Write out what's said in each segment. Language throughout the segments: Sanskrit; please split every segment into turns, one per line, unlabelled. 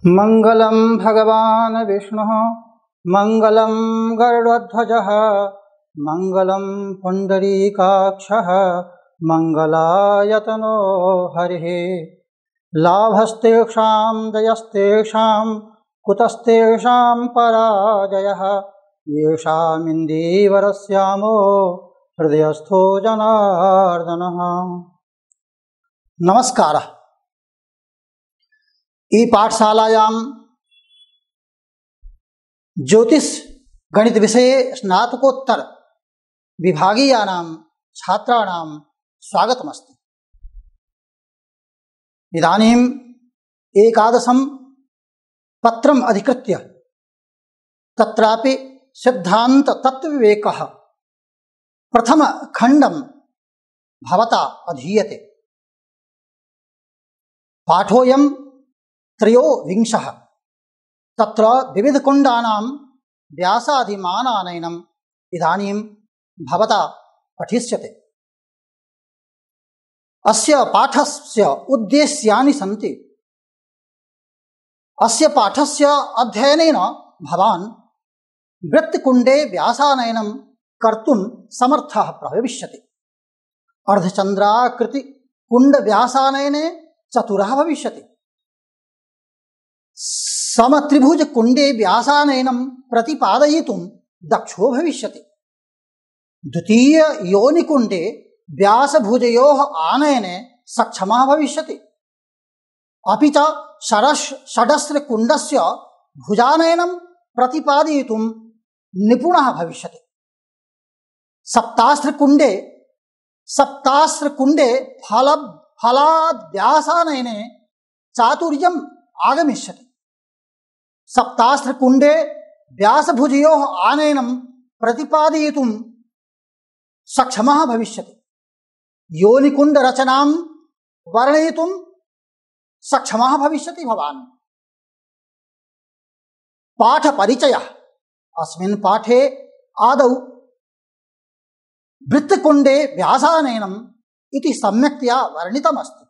मंगलम भगवान विष्णु मंगलम गरुड़ध्वजः मंगलम पुंडरीकाक्षः मंगलायतनो हरिः। लाभस्तेषां जयस्तेषां कुतस्तेषां पराजयः येषामिन्दीवरस्यामो हृदयस्थो जनार्दनः। नमस्कारः। ई पाठशालायां ज्योतिष गणित विषये स्नातकोत्तर विभागीयानां छात्राणां स्वागतमस्ति। इदानीम् एकादशं पत्रम् अधिकृत्य तत्रापि सिद्धान्त तत्त्वविवेकः प्रथमखण्डं भवता अधीयते। पाठोऽयं त्रयोविंशः। तत्र विविधकुण्डानां व्यासादिमानानयनम् इदानीं भवता पठिष्यते। अस्य पाठस्य उद्देश्यानि सन्ति। अस्य पाठस्य अध्ययनेन भवान् वृत्तकुण्डे व्यासानयनं कर्तुं समर्थः भविष्यति। अर्धचन्द्राकृतिकुण्डव्यासानयने चतुरः भविष्यति। समत्रिभुजकुण्डे व्यासानयनं प्रतिपादयितुं दक्षो भविष्यति। द्वितीययोनिकुण्डे व्यासभुजयोः आनयने सक्षमः भविष्यति। अपि च षडस्रकुण्डस्य भुजानयनं प्रतिपादयितुं निपुणः भविष्यति। सप्तास्त्रकुण्डे फलाद्व्यासानयने चातुर्यम् आगमिष्यति। सप्तास्त्रकुण्डे व्यासभुजयोः आनयनं प्रतिपादयितुं सक्षमः भविष्यति। योनिकुण्डरचनां वर्णयितुं सक्षमः भविष्यति भवान्। पाठपरिचयः। अस्मिन् पाठे आदौ वृत्तकुण्डे व्यासानयनम् इति सम्यक्तया वर्णितमस्ति।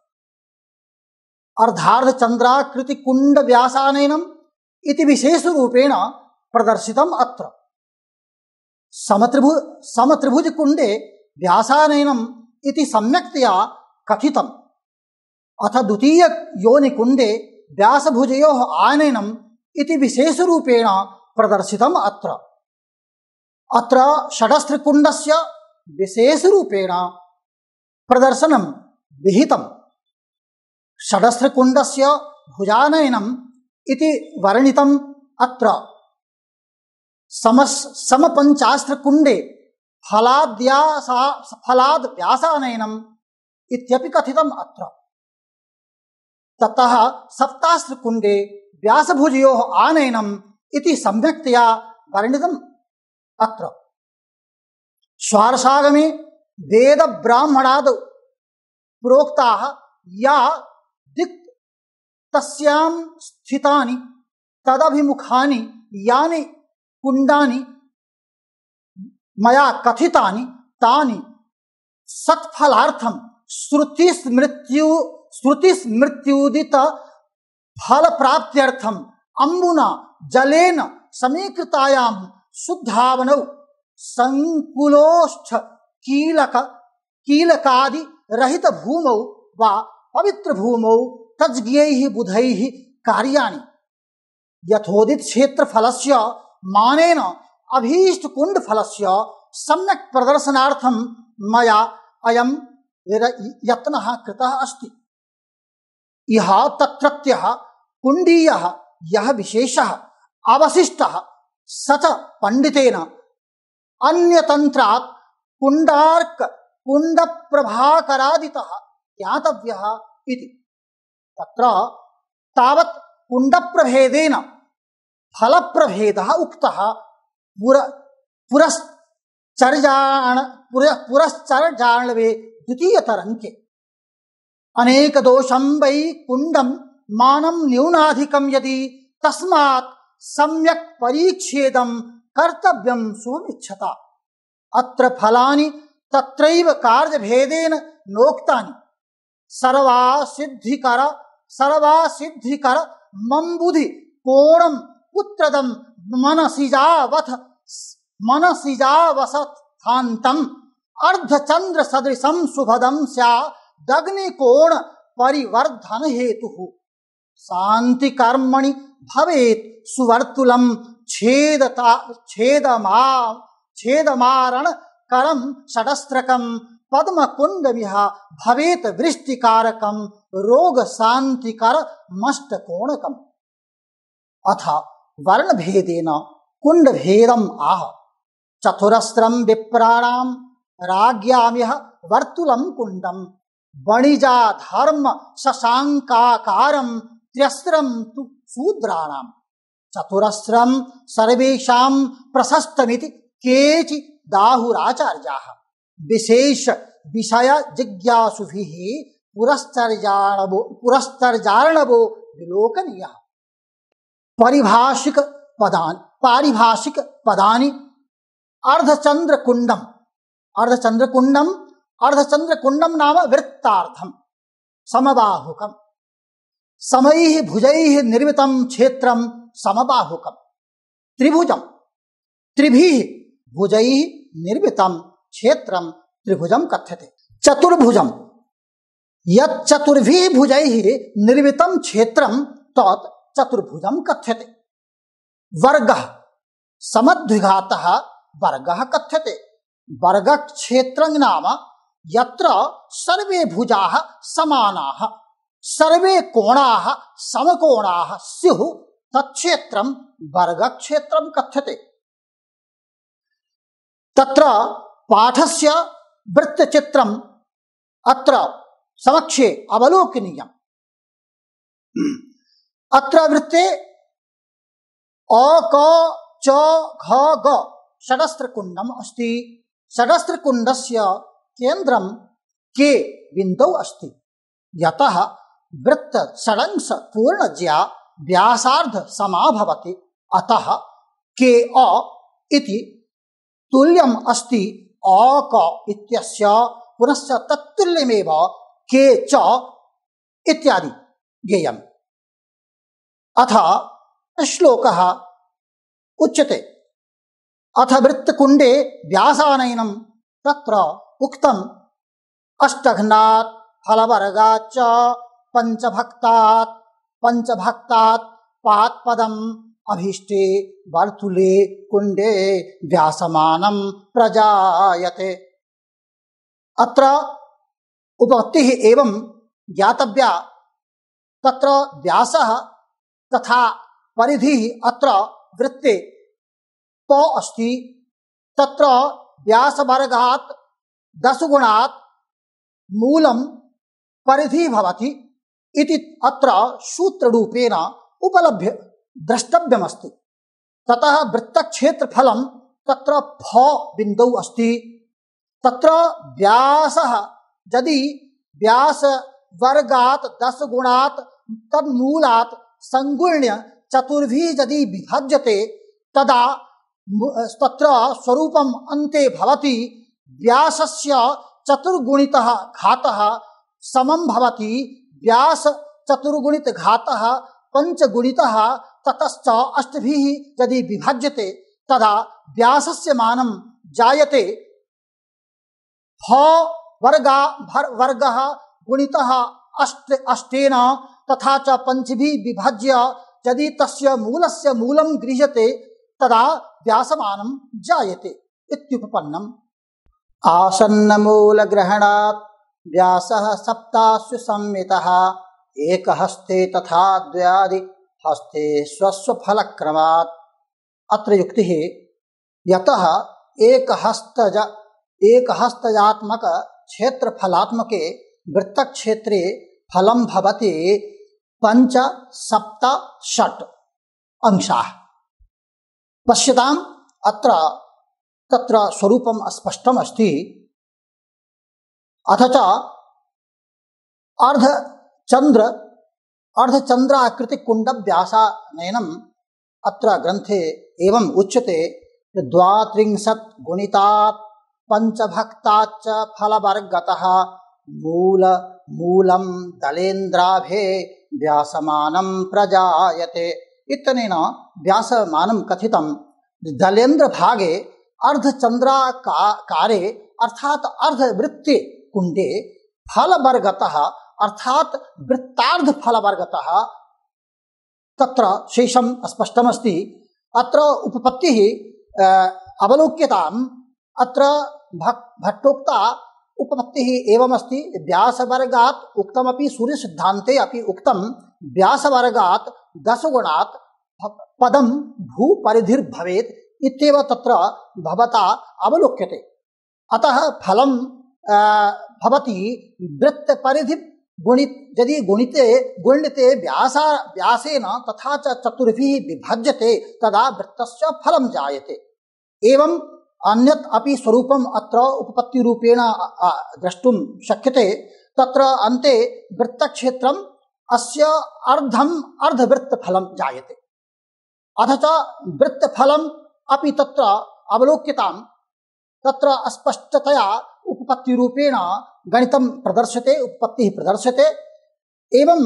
अर्धार्धचन्द्राकृतिकुण्डव्यासानयनम् इति विशेषरूपेण प्रदर्शितम् अत्र। समत्रिभुजकुण्डे व्यासानयनम् इति सम्यक्तया कथितम्। अथ द्वितीययोनिकुण्डे व्यासभुजयोः आनयनम् इति विशेषरूपेण प्रदर्शितम् अत्र। अत्र षडस्त्रकुण्डस्य विशेषरूपेण प्रदर्शनं विहितम्। षडस्त्रकुण्डस्य भुजानयनम् इति वर्णितम् अत्र। समपञ्चास्त्रकुण्डे फलाद्व्यासानयनम् इत्यपि कथितम् अत्र। ततः सप्तास्त्रकुण्डे व्यासभुजयोः आनयनम् इति सम्यक्तया वर्णितम् अत्र। स्वारसागमे वेदब्राह्मणादौ प्रोक्ताः या दिक् तस्यां स्थितानि तदभिमुखानि यानि कुण्डानि मया कथितानि तानि सत्फलार्थं श्रुतिस्मृत्युदित फलप्राप्त्यर्थम् अम्बुना जलेन समीकृतायां शुद्धावनौ संकुलोष्ठ कीलकादि रहित भूमौ वा पवित्र भूमौ तज्ज्ञैः बुधैः कार्याणि यथोदित क्षेत्रफलस्य मानेन अभीष्टकुण्डफलस्य सम्यक् प्रदर्शनार्थं मया अयं यत्नः कृतः अस्ति। इह तत्रत्यः कुण्डीयः यः विशेषः अवशिष्टः स च पण्डितेन अन्यतन्त्रात् कुण्डप्रभाकरादितः ज्ञातव्यः इति। तत्र तावत् कुण्डप्रभेदेन फलप्रभेदः उक्तः पुरश्चर्याणवे द्वितीयतरङ्के। अनेकदोषं वै कुण्डं मानं न्यूनाधिकं यदि तस्मात् सम्यक् परीच्छेदं कर्तव्यं सुमिच्छता। अत्र फलानि तत्रैव कार्यभेदेन नोक्तानि। सर्वासिद्धिकर मंबुधि कोणम पुत्रदम मनसिजावसथान्तं अर्धचंद्र सदृशं शुभदं स्यादग्निकोण परिवर्धन हेतुः शांति कर्मणि भवेत् सुवर्तुलं छेदमारण करम षडस्त्रकम पद्मकुंडमिह भवेत वृष्टिकारकम रोग शांतिकर मष्टकोणकम। अथ वर्णभेदेन कुंडभेदम आह चतुरस्रम विप्राणाम राज्ञामिह वर्तुलम कुंडम वणिजा धर्म शशांकाकारम त्र्यस्त्रम तु शूद्राणाम चतुरस्रम सर्वेषां प्रशस्तमिति केचि दाहुराचार्याः विशेष विषय जिज्ञासुभिः पुरस्तर्जार्णवो विलोकनीयः। पारिभाषिक पदानि अर्धचंद्रकुंडम नाम वृत्तार्थम समबाहुकम समैः भुजैः निर्मितं क्षेत्रं समबाहुकम त्रिभुजम त्रिभिः भुजैः निर्मितं क्षेत्रं त्रिभुजं कथ्यते। चतुर्भुजम यच्चतुर्भिः भुजैः निर्मितं क्षेत्रं तत् चतुर्भुजं कथ्यते। वर्गः समद्विघातः वर्गः कथ्यते। वर्गक्षेत्रं नाम यत्र सर्वे भुजाः समानाः सर्वे कोणाः समकोणाः स्युः तत्क्षेत्रं वर्गक्षेत्रं कथ्यते। तत्र पाठस्य वृत्तचित्रम् अत्र समक्षे अवलोकनीयम्। अत्र वृत्ते अ क च घ ग षडस्त्रकुण्डम् अस्ति। षडस्त्रकुण्डस्य केन्द्रं के बिन्दौ अस्ति। यतः वृत्त षडंश पूर्णज्या व्यासार्ध समा भवति अतः के अ इति तुल्यम् अस्ति अ क इत्यस्य पुनश्च तत्तुल्यमेव के च इत्यादि ज्ञेयम्। अथ श्लोकः उच्यते अथ वृत्तकुण्डे व्यासानयनं तत्र उक्तम् अष्टघ्नात् फलवर्गाच्च पंचभक्तात् पात्पदम् अभीष्टे वर्तुले कुण्डे व्यासमानं प्रजायते। अत्र उपपत्तिः एवं ज्ञातव्या। तत्र व्यासः तथा परिधिः अत्र वृत्ते प अस्ति। तत्र व्यासवर्गात् 10 गुणात् मूलं परिधिः भवति इति अत्र सूत्ररूपेण उपलभ्य द्रष्टव्यमस्ति। ततः वृत्तक्षेत्रफलं तत्र फ बिन्दौ अस्ति। तत्र व्यासः यदि व्यासवर्गात् 10 गुणात् तन्मूलात् संगुण्य चतुर्भिः यदि विभज्यते तदा तत्र स्वरूपम् अन्ते भवति। व्यासस्य चतुर्गुणितः घातः समं भवति व्यास चतुर्गुणित घातः पंचगुणितः ततश्च अष्टभिः यदि विभज्यते तदा व्यासस्य मानं जायते। फ वर्गः गुणितः अष्टेन तथा च पंचभिः विभज्य यदि तस्य मूलस्य मूलं गृह्यते तदा व्यासमानं जायते इत्युपपन्नम्। आसन्नमूलग्रहणात् व्यासः सप्तासु संमितः एकहस्ते तथा द्व्यादि हस्ते स्वस्वफलक्रमात्। अत्र युक्तिः यतः एकहस्तजात्मक क्षेत्रफलात्मके वृत्तक्षेत्रे फलं भवति 5, 7, 8 अंशाः। पश्यताम् अत्र तत्र स्वरूपं स्पष्टम् अस्ति। अथ च अर्धचन्द्राकृतिकुण्डव्यासानयनम् अत्र ग्रन्थे एवम् उच्यते 32 गुणितात् पञ्चभक्ताच्च फलवर्गतः मूलं दलेन्द्राभे व्यासमानं प्रजायते इत्यनेन व्यासमानं कथितं। दलेन्द्र भागे अर्धचंद्राकारे अर्थात अर्धवृत्ते कुंडे फलवर्गतः अर्थात वृत्तार्ध फलवर्गतः तत्र शेषम स्पष्टमस्ति। अत्र उपपत्तिः अवलोक्यताम्। अत्र भट्टोक्ता उपपत्तिः एवमस्ति। व्यासवर्गात् उक्तमपि सूर्यसिद्धान्ते अपि उक्तं व्यासवर्गात् 10 गुणात् पदं भूपरिधिर्भवेत् इत्येव तत्र भवता अवलोक्यते। अतः फलं भवति वृत्तपरिधि गुणित यदि गुणिते व्यासेन तथा च चतुर्भिः विभज्यते तदा वृत्तस्य फलं जायते। एवं अन्यत् अपि स्वरूपम् अत्र उपपत्तिरूपेण द्रष्टुं शक्यते। तत्र अन्ते वृत्तक्षेत्रम् अस्य अर्धवृत्तफलं जायते। अथ च वृत्तफलम् अपि तत्र अवलोक्यताम्। तत्र स्पष्टतया उपपत्तिरूपेण गणितं प्रदर्श्यते, उपपत्तिः प्रदर्श्यते। एवं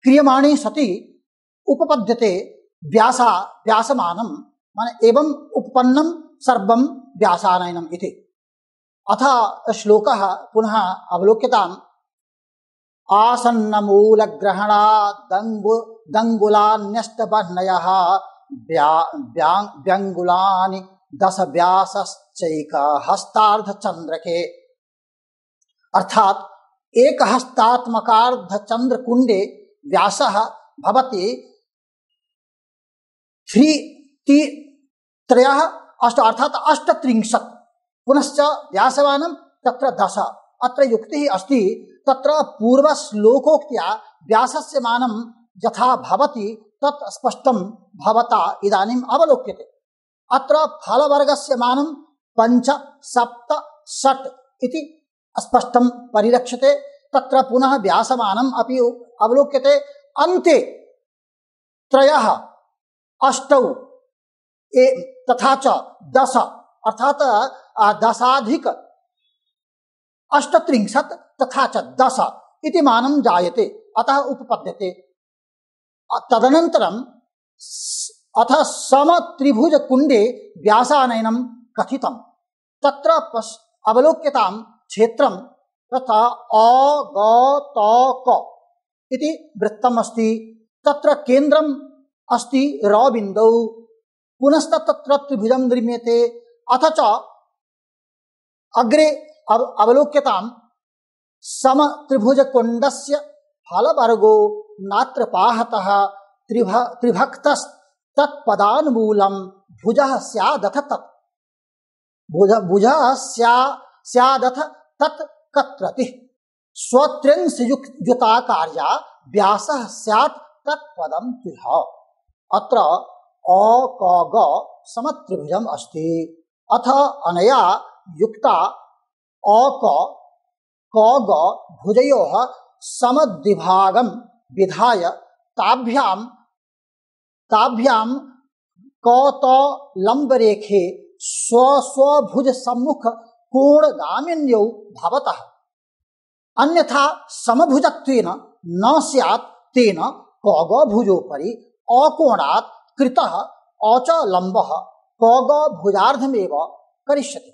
क्रियमाणे सति उपपद्यते व्यासमानं माने एवं उपपन्नं सर्वं व्यासानयनम् इति। अथ श्लोकः पुनः अवलोक्यताम्। आसन्नमूलग्रहणात् दङ्गुलान्यष्टवर्णयः व्यङ्गुलानि 10 व्यासश्चैकहस्तार्धचन्द्रके। अर्थात एकहस्तात्मकार्धचन्द्रकुण्डे व्यासः भवति 3 अर्थात 38। पुनश्च व्यासमानं तत्र 10। अत्र युक्तिः अस्ति। तत्र पूर्वश्लोकोक्त्या व्यासस्य मानं यथा भवति तत् स्पष्टं भवता इदानीम् अवलोक्यते। अत्र फलवर्गस्य मानं 5, 7, 6 इति स्पष्टं परिलक्ष्यते। तत्र पुनः व्यासमानम् अपि अवलोक्यते। अन्ते 3, 8 तथा च 10 अर्थात 10+38 तथा च 10 इति मानं जायते। अतः उपपद्यते। तदनन्तरम् अथ समत्रिभुजकुण्डे व्यासानयनं कथितं। तत्र अवलोक्यतां क्षेत्रं तथा अगतक इति वृत्तम् अस्ति। तत्र केन्द्रम् अस्ति रबिन्दौ। पुनश्च तत्र त्रिभुजं निर्मीयते। अथ च अग्रे अवलोक्यतां समत्रिभुजकुण्डस्य फलवर्गो नात्र पाहतः त्रिभक्तस्तत्पदानुमूलं भुजः स्यादथ तत् भुजः स्यादथ तत् कत्रतिः स्वत्रिंशयुता कार्या व्यासः स्यात् तत्पदं तिह। अत्र अकग समत्रिभुजम् अस्ति। अथ अनया युक्ता अकग भुजयोः समद्विभागं विधाय ताभ्यां कौतलम्बरेखे स्वस्वभुज सम्मुख कोणगामिन्यौ भवतः। अन्यथा समभुजत्वेन न स्यात् तेन कौगभुजोपरि अकोणात् कृतः अचलम्बः कौगभुजार्धमेव करिष्यति।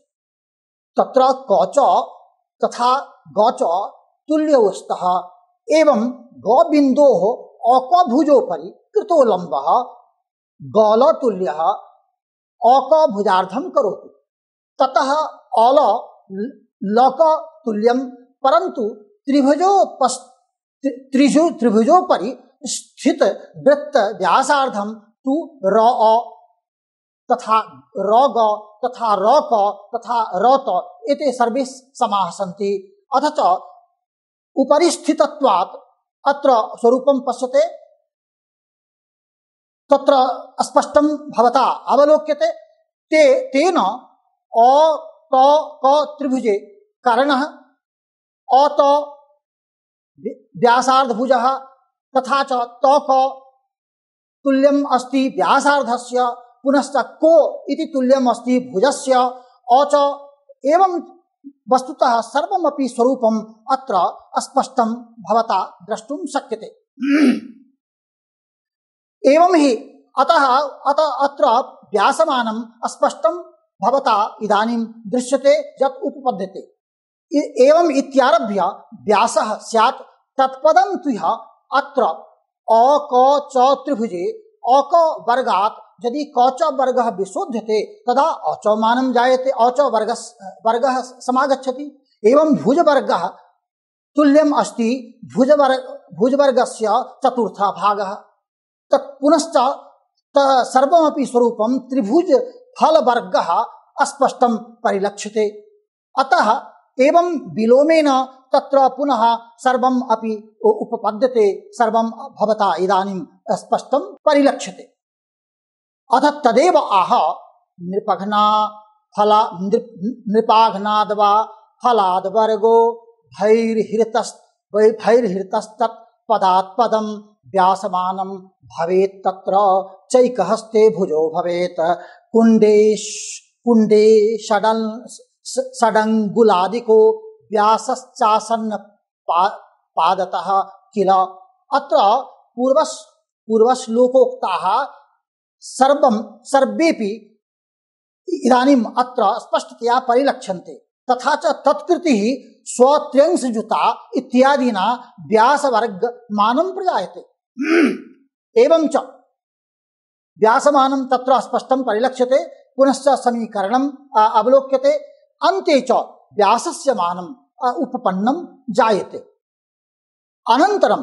तत्र कच तथा गच तुल्यौ स्तः। एवं गबिन्दोः अकभुजोपरि कृतो लम्बः गलतुल्यः अकभुजार्धं करोति। ततः अल लक तुल्यं परन्तु त्रिभुजोपरि स्थित वृत्त व्यासार्धं तु र तथा रग तथा रक तथा रत एते सर्वे समाः सन्ति। अथ च उपरिस्थितत्वात् अत्र स्वरूपं पश्यते। तत्र स्पष्टं भवता अवलोक्यते। तेन अ त क त्रिभुजे कर्णः अत व्यासार्धभुजः तथा च तक तुल्यम् अस्ति व्यासार्धस्य। पुनश्च को इति तुल्यम् अस्ति भुजस्य अच। एवं वस्तुतः सर्वमपि स्वरूपम् अत्र स्पष्टं भवता द्रष्टुं शक्यते। एवं हि अतः अत्र व्यासमानं स्पष्टं भवता इदानीं दृश्यते यत् उपपद्यते। एवं इत्यारभ्य व्यासः स्यात् तत्पदं तु यः अत्र अक च त्रिभुजे अक वर्गात् यदि क च वर्गः विशोध्यते तदा अच मानं जायते, अच वर्गः समागच्छति। एवं भुजवर्गः तुल्यम् अस्ति भुजवर्गस्य चतुर्थः भागः। तत् पुनश्च सर्वमपि स्वरूपं त्रिभुज फलवर्गः अस्पष्टं परिलक्ष्यते। अतः एवं विलोमेन तत्र पुनः सर्वम् अपि उपपद्यते, सर्वं भवता इदानीं स्पष्टं परिलक्ष्यते। अथ तदेव आह नृपाघ्नाद्वा फलाद्वर्गो भैर्हृतस्तत् पदात्पदं व्यासमानं भवेत् तत्र चैकहस्ते भुजो भवेत् कुण्डे षडङ्गुलादिको व्यासश्चासन्न पादतः किल। अत्र पूर्वश्लोकोक्ताः सर्वेपि इदानीम् अत्र स्पष्टतया परिलक्ष्यन्ते। तथा च तत्कृतिः स्वत्र्यंशयुता इत्यादिना व्यासवर्गमानं प्रजायते। एवं च व्यासमानं तत्र स्पष्टं परिलक्ष्यते, पुनश्च समीकरणम् अवलोक्यते, अन्ते च व्यासस्य मानम् उपपन्नं जायते। अनन्तरं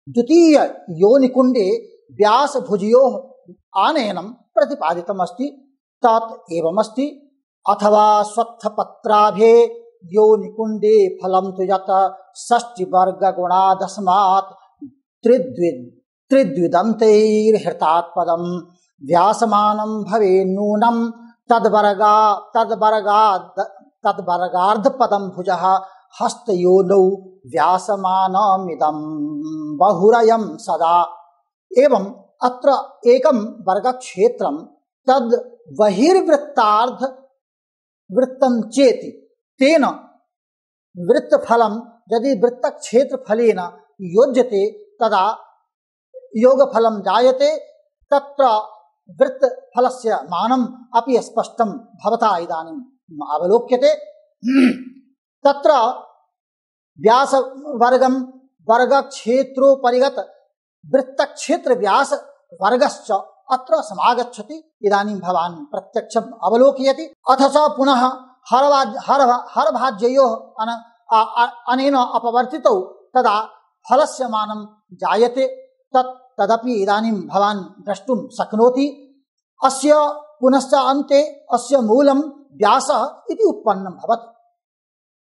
द्वितीय योनिकुण्डे व्यासभुजयोः आनयनं प्रतिपादितमस्ति। तत् एवमस्ति, अथवा स्वत्थपत्राभे योनिकुण्डे फलं तु यत् षष्टिवर्गगुणादस्मात् त्रिद्विदन्तैर्हृतात्पदं व्यासमानं भवेन्नूनं तद्वर्गार्धपदं भुजः हस्तयोनौ व्यासमानमिदं बहुरयं सदा। एवं अत्र एकं वर्गक्षेत्रं तद् बहिर्वृत्तार्ध वृत्तं चेति तेन वृत्तफलं यदि वृत्तक्षेत्रफलेन योज्यते तदा योगफलं जायते। तत्र वृत्तफलस्य मानम् अपि स्पष्टं भवता इदानीम् अवलोक्यते। तत्र व्यासवर्गं वर्गक्षेत्रोपरिगत वृत्तक्षेत्र व्यासवर्गश्च अत्र समागच्छति। इदानीं भवान् प्रत्यक्षम् अवलोकयति। अथ च पुनः हरभाज्ययोः अनेन अपवर्तितौ तदा फलस्य मानं जायते। तदपि इदानीं भवान् द्रष्टुं शक्नोति। अस्य पुनश्च अन्ते अस्य मूलं व्यासः इति उत्पन्नं भवति।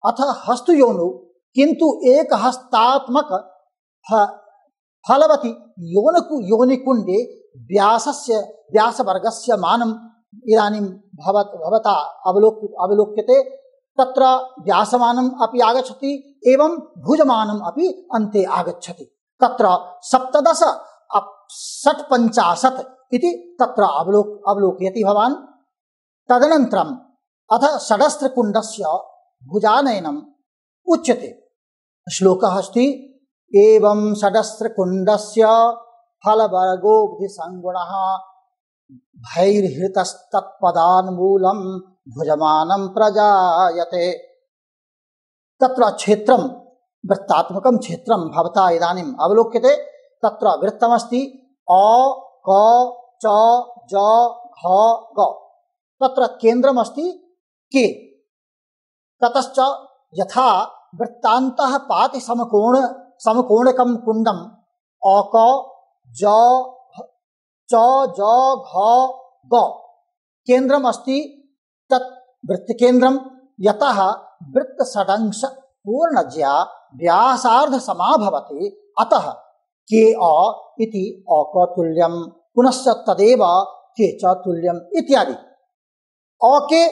अथ हस्तयोनौ किन्तु एकहस्तात्मक फलवति योनिकुण्डे व्यासवर्गस्य मानम् इदानीं भवता अवलोक्यते। तत्र व्यासमानम् अपि आगच्छति, एवं भुजमानम् अपि अन्ते आगच्छति। तत्र 17 इति तत्र अवलोकयति भवान्। तदनन्तरम् अथ षडस्त्रकुण्डस्य भुजानयनम् उच्यते। श्लोकः अस्ति, एवं षडस्त्रकुण्डस्य फलवर्गो बुद्धिसङ्गुणः भैर्हृतस्तत्पदान्मूलं भुजमानं प्रजायते। तत्र क्षेत्रं वृत्तात्मकं क्षेत्रं भवता इदानीम् अवलोक्यते। तत्र वृत्तमस्ति अ क च ज घ ग। तत्र केन्द्रमस्ति के। ततश्च यथा वृत्तान्तः पाति समकोणकं कुण्डम् अक ज च ज घ ग केन्द्रम् अस्ति तत् वृत्तकेन्द्रं। यतः वृत्तषडंश पूर्णज्या व्यासार्ध समाभवति, अतः के अ इति अकतुल्यं, पुनश्च तदेव के च तुल्यम् इत्यादि। अके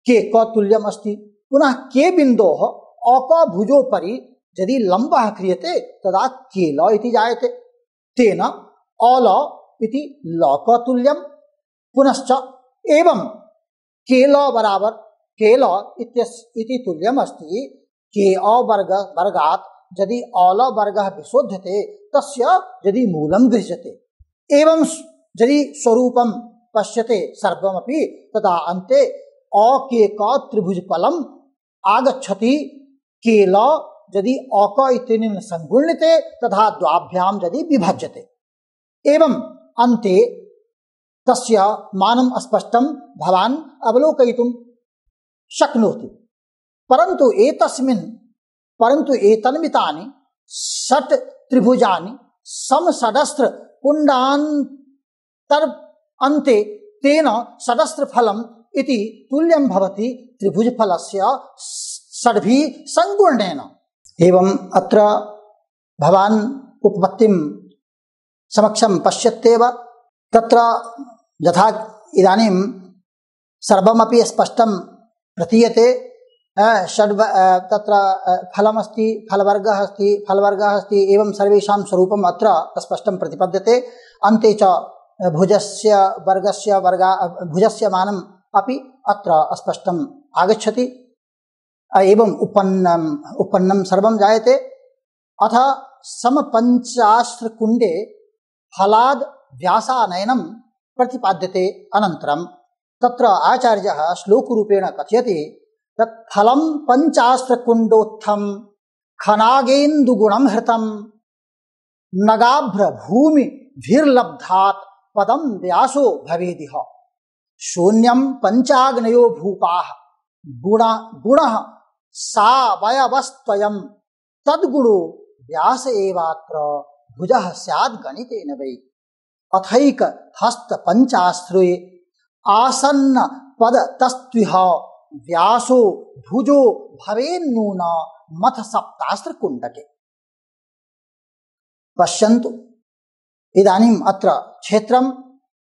के कतुल्यम् अस्ति। पुनः के बिन्दोः अक भुजोपरि यदि लम्बः क्रियते तदा केल इति जायते। तेन अल इति लकतुल्यं। पुनश्च एवं केल बराबर केल इति तुल्यम् अस्ति के अ वर्गात् यदि अल वर्गः विशोध्यते तस्य यदि मूलं गृह्यते एवं यदि स्वरूपं पश्यते सर्वमपि तदा अन्ते अकेक त्रिभुजफलम् आगच्छति केल यदि अक इत्यनेन संगुण्यते तथा द्वाभ्यां यदि विभज्यते एवं अन्ते तस्य मानं स्पष्टं भवान् अवलोकयितुं शक्नोति। परन्तु एतन्मितानि षट् त्रिभुजानि समषडस्त्र कुण्डान्तर अन्ते तेन षडस्त्रफलम् इति तुल्यं भवति त्रिभुजफलस्य षड्भिः संगुणनेन। एवं अत्र भवान् उपपत्तिं समक्षं पश्यत्येव। तत्र यथा इदानीं सर्वमपि स्पष्टं प्रतीयते। तत्र फलमस्ति, फलवर्गः अस्ति एवं सर्वेषां स्वरूपम् अत्र स्पष्टं प्रतिपद्यते। अन्ते च भुजस्य मानम् अपि अत्र स्पष्टम् आगच्छति। एवं उपन्नं सर्वं जायते। अथ समपञ्चास्त्रकुण्डे फलाद् व्यासानयनं प्रतिपाद्यते। अनन्तरं तत्र आचार्यः श्लोकरूपेण कथयति तत् फलं पञ्चास्त्रकुण्डोत्थं खनागेन्दुगुणं हृतं नगाभ्रभूमिभिर्लब्धात् पदं व्यासो भवेदिह शून्यं पञ्चाग्नयो भूपाः गुणः सावयवस्त्वयं तद्गुणो व्यास एवात्र भुजः स्याद् गणितेन वै अथैक हस्त पंचाश्रे आसन्न पद तस्त्विह व्यासो भुजो भवेन्नून मथ सप्तास्त्र कुण्डके। पश्यन्तु इदानीम् अत्र क्षेत्रम्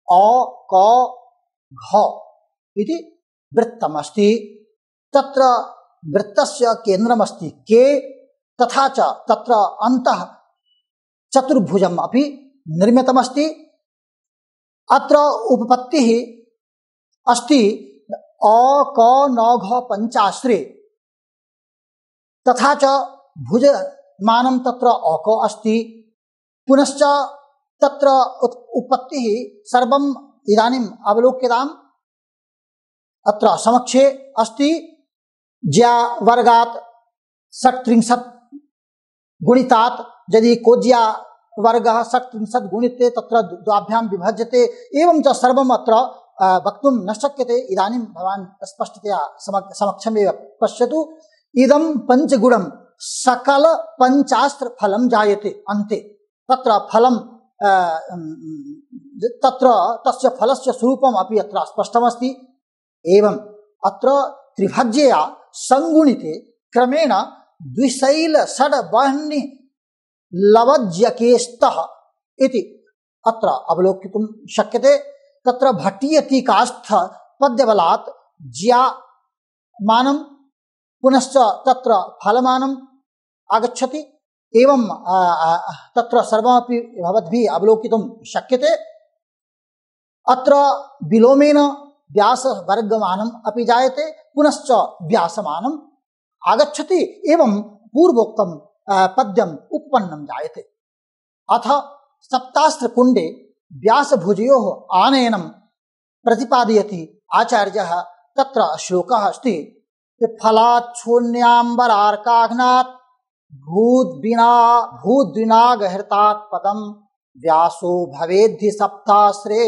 अ क घ इति वृत्तमस्ति। तत्र वृत्तस्य केन्द्रमस्ति के तथा च तत्र अन्तः चतुर्भुजम् अपि निर्मितमस्ति। अत्र उपपत्तिः अस्ति अ क न घ पंचाश्रे तथा च भुजमानं तत्र अक अस्ति। पुनश्च तत्र उपपत्तिः सर्वम् इदानीम् अवलोक्यताम्। अत्र समक्षे अस्ति ज्या वर्गात् षट्त्रिंशत् गुणितात् यदि कोज्या वर्गः षट्त्रिंशत् गुणिते तत्र द्वाभ्यां विभज्यते। एवं च सर्वम् अत्र वक्तुं न शक्यते। इदानीं भवान् स्पष्टतया समक्षमेव पश्यतु। इदं पञ्चगुणं सकल पञ्चास्त्र फलं जायते अन्ते। तत्र फलं तत्र तस्य फलस्य स्वरूपम् अपि अत्र स्पष्टमस्ति। एवं अत्र त्रिभज्यया संगुणिते क्रमेण द्विशैल षड् वह्नि लवज्यकेस्तः इति अत्र अवलोकितुं शक्यते। तत्र भट्टीय टीकास्थ पद्यबलात् ज्या मानं पुनश्च तत्र फलमानम् आगच्छति। एवं तत्र सर्वमपि भवद्भिः अवलोकितुं शक्यते। अत्र विलोमेन व्यासवर्गमानम् अपि जायते पुनश्च व्यासमानम् आगच्छति। एवं पूर्वोक्तं पद्यम् उत्पन्नं जायते। अथ सप्तास्त्रकुण्डे व्यासभुजयोः आनयनं प्रतिपादयति आचार्यः। तत्र श्लोकः अस्ति फलात् शून्याम्बरार्काघ्नात् भूद्विनागहृतात् पदं व्यासो भवेद्धि सप्तास्रे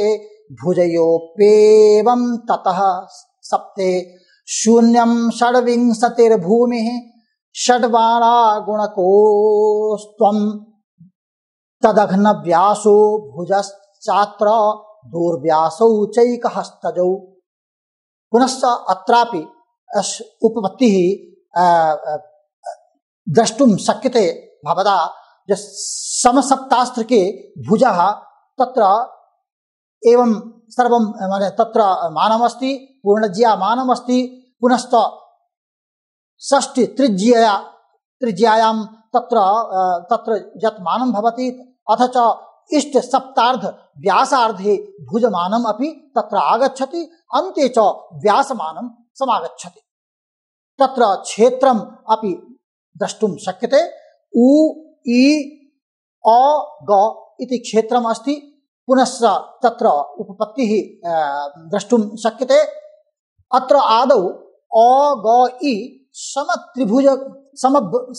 भुजयोप्येवं ततः सप्ते शून्यं षड्विंशतिर्भूमिः षड्वारा गुणकोस्त्वं तदघ्न व्यासो भुजश्चात्र दूर्व्यासौ चैकहस्तजौ। पुनश्च अत्रापि उपपत्तिः द्रष्टुं शक्यते भवता। समसप्तास्त्र के भुजः तत्र एवं सर्वं तत्र मानमस्ति, पूर्णज्या मानमस्ति। पुनश्च षष्ठी त्रिज्यायां तत्र यत् मानं भवति अथ च इष्ट सप्तार्ध व्यासार्धे भुजमानम् अपि तत्र आगच्छति। अन्ते च व्यासमानं समागच्छति। तत्र क्षेत्रम् अपि द्रष्टुं शक्यते। उ इ अ ग इति क्षेत्रम् अस्ति। पुनश्च तत्र उपपत्तिः द्रष्टुं शक्यते। अत्र आदौ अ ग इ समत्रिभुज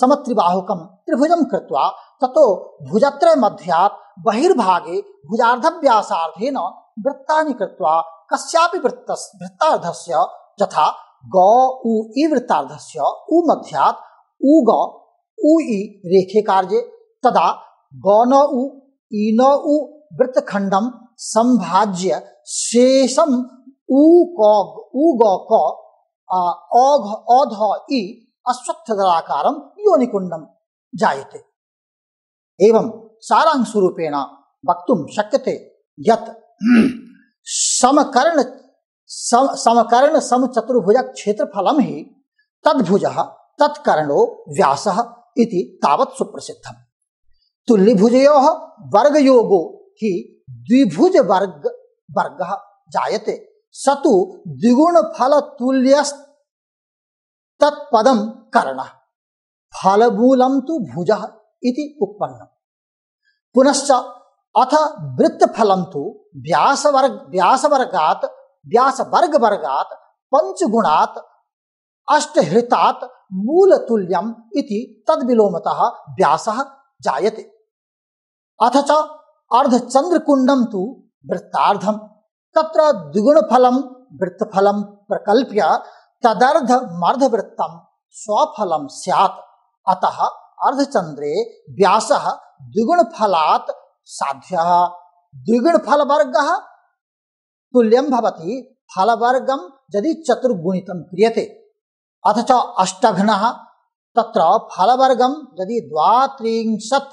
समत्रिबाहुकं त्रिभुजं कृत्वा ततो भुजत्रय मध्यात् बहिर्भागे भुजार्धव्यासार्धेन वृत्तानि कृत्वा कस्यापि वृत्तार्धस्य यथा ग उ इ वृत्तार्धस्य उ मध्यात् उ ग उ इ रेखे कार्ये तदा ग न उ इ न उ वृत्तखंडं संभाज्य शेषम उ ग क अध इ अश्वत्थदलाकारं योनिकुंडं जायते। एवं सारांशरूपेण वक्तुं शक्यते यत् समकर्ण समचतुर्भुज क्षेत्रफलं हि तद्भुजः तत्कर्णो व्यासः इति तावत् सुप्रसिद्धम्। तुल्यभुजयोः वर्गयोगो हि द्विभुज वर्गः जायते स तु द्विगुणफलतुल्यस्तत्पदं कर्णः फलमूलं तु भुजः इति उत्पन्नम्। पुनश्च अथ वृत्तफलं तु व्यासवर्गात् पंचगुणात् अष्टहृतात् मूलतुल्यम् इति तद्विलोमतः व्यासः जायते। अथ च अर्धचंद्रकुंडं तु वृत्तार्धं तत्र द्विगुणफलं वृत्तफलं प्रकल्प्य तदर्धमर्धवृत्तं स्वफलं स्यात्। अतः अर्धचंद्रे व्यासः द्विगुणफलात् साध्यः। द्विगुणफलवर्गः तुल्यं भवति फलवर्गं यदि चतुर्गुणितं क्रियते। अथ च अष्टघ्नः तत्र फलवर्गं यदि 32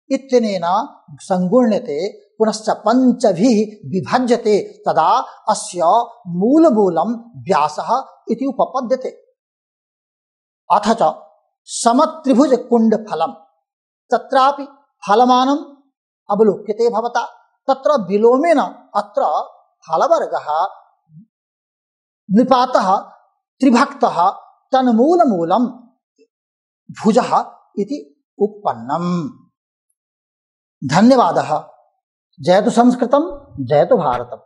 इत्यनेन संगुण्यते पुनश्च पंचभिः विभज्यते तदा अस्य मूलमूलं व्यासः इति उपपद्यते। अथ च समत्रिभुज कुंडफलं तत्रापि फलमानम् अवलोक्यते भवता। तत्र विलोमेन अत्र फलवर्गः निपातः त्रिभक्तः तन्मूलमूलं भुजः इति उत्पन्नम्। धन्यवादः। जयतु संस्कृतं, जयतु भारतम्।